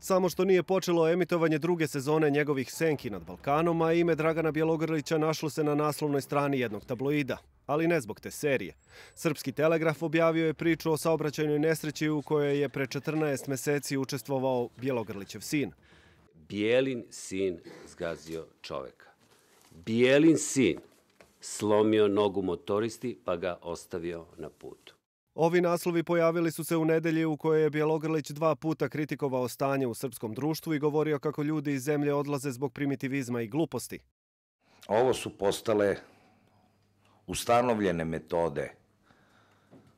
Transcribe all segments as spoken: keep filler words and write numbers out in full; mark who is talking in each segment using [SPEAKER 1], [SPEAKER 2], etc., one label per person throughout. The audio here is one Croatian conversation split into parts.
[SPEAKER 1] Samo što nije počelo emitovanje druge sezone njegovih Senki nad Balkanom, a ime Dragana Bjelogrlića našlo se na naslovnoj strani jednog tabloida. Ali ne zbog te serije. Srpski Telegraf objavio je priču o saobraćajnoj nesreći u kojoj je pre četrnaest meseci učestvovao Bjelogrlićev sin.
[SPEAKER 2] Bijelin sin zgazio čoveka. Bijelin sin slomio nogu motoristi pa ga ostavio na putu.
[SPEAKER 1] Ovi naslovi pojavili su se u nedelji u kojoj je Bjelogrlić dva puta kritikovao stanje u srpskom društvu i govorio kako ljudi iz zemlje odlaze zbog primitivizma i gluposti.
[SPEAKER 3] Ovo su postale ustanovljene metode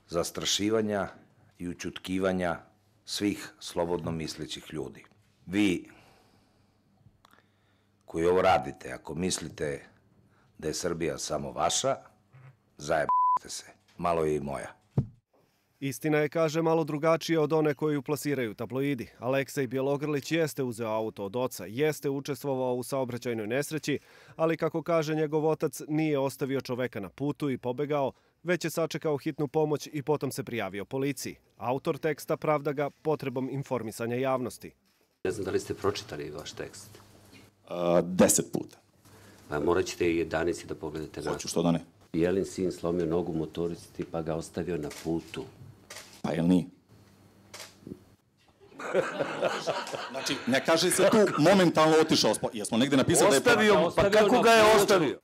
[SPEAKER 3] zastrašivanja i ućutkivanja svih slobodno mislećih ljudi. Vi koji ovo radite, ako mislite da je Srbija samo vaša, zajebite se. Malo je i moja.
[SPEAKER 1] Istina je, kaže, malo drugačija od one koju plasiraju tabloidi. Aleksej Bjelogrlić jeste uzeo auto od oca, jeste učestvovao u saobraćajnoj nesreći, ali kako kaže njegov otac, nije ostavio čoveka na putu i pobegao, već je sačekao hitnu pomoć i potom se prijavio policiji. Autor teksta pravda ga potrebom informisanja javnosti.
[SPEAKER 2] Ne znam da li ste pročitali vaš tekst.
[SPEAKER 4] Uh, deset puta.
[SPEAKER 2] Pa morat ćete i jedanici da pogledate na...
[SPEAKER 4] Hoću, što da ne?
[SPEAKER 2] Bijelin sin slomio nogu motoristi pa ga ostavio na putu.
[SPEAKER 4] Pa jel nije? Znači, ne kaže se tu momentalno otišao. Jesmo negde napisali da je...
[SPEAKER 3] Ostavio, pa kako ga je ostavio?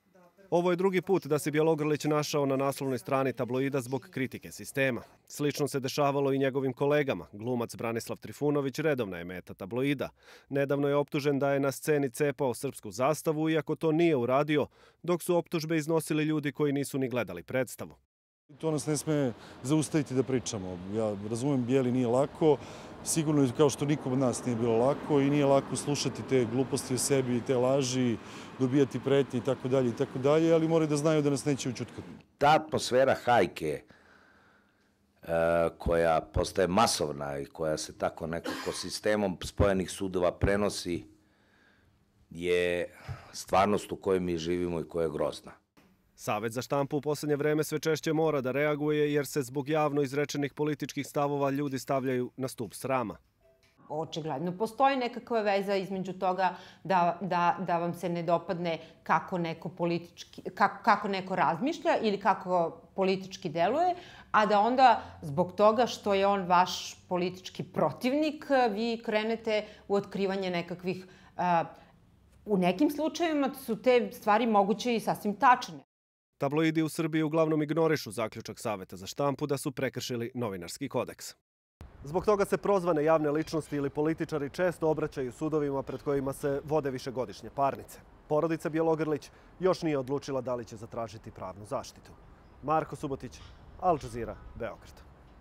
[SPEAKER 1] Ovo je drugi put da se Bjelogrlić našao na naslovnoj strani tabloida zbog kritike sistema. Slično se dešavalo i njegovim kolegama. Glumac Branislav Trifunović redovna je meta tabloida. Nedavno je optužen da je na sceni cepao srpsku zastavu, iako to nije uradio, dok su optužbe iznosili ljudi koji nisu ni gledali predstavu.
[SPEAKER 5] To nas ne sme zaustaviti da pričamo. Ja razumem, Bijeli nije lako, sigurno kao što nikom od nas nije bilo lako i nije lako slušati te gluposti o sebi i te laži, dobijati pretnje i tako dalje i tako dalje, ali moraju da znaju da nas neće učutkati.
[SPEAKER 3] Ta atmosfera hajke koja postaje masovna i koja se tako nekako sistemom spojenih sudova prenosi je stvarnost u kojoj mi živimo i koja je grozna.
[SPEAKER 1] Savet za štampu u poslednje vreme sve češće mora da reaguje jer se zbog javno izrečenih političkih stavova ljudi stavljaju na stub srama.
[SPEAKER 6] Očigledno postoji nekakva veza između toga da, da, da vam se ne dopadne kako neko, politički, kako, kako neko razmišlja ili kako politički deluje, a da onda zbog toga što je on vaš politički protivnik, vi krenete u otkrivanje nekakvih... Uh, u nekim slučajevima su te stvari moguće i sasvim tačne.
[SPEAKER 1] Tabloidi u Srbiji uglavnom ignorišu zaključak Saveta za štampu da su prekršili novinarski kodeks. Zbog toga se prozvane javne ličnosti ili političari često obraćaju sudovima pred kojima se vode višegodišnje parnice. Porodica Bjelogrlić još nije odlučila da li će zatražiti pravnu zaštitu. Marko Subotić, Al Jazeera, Beograd.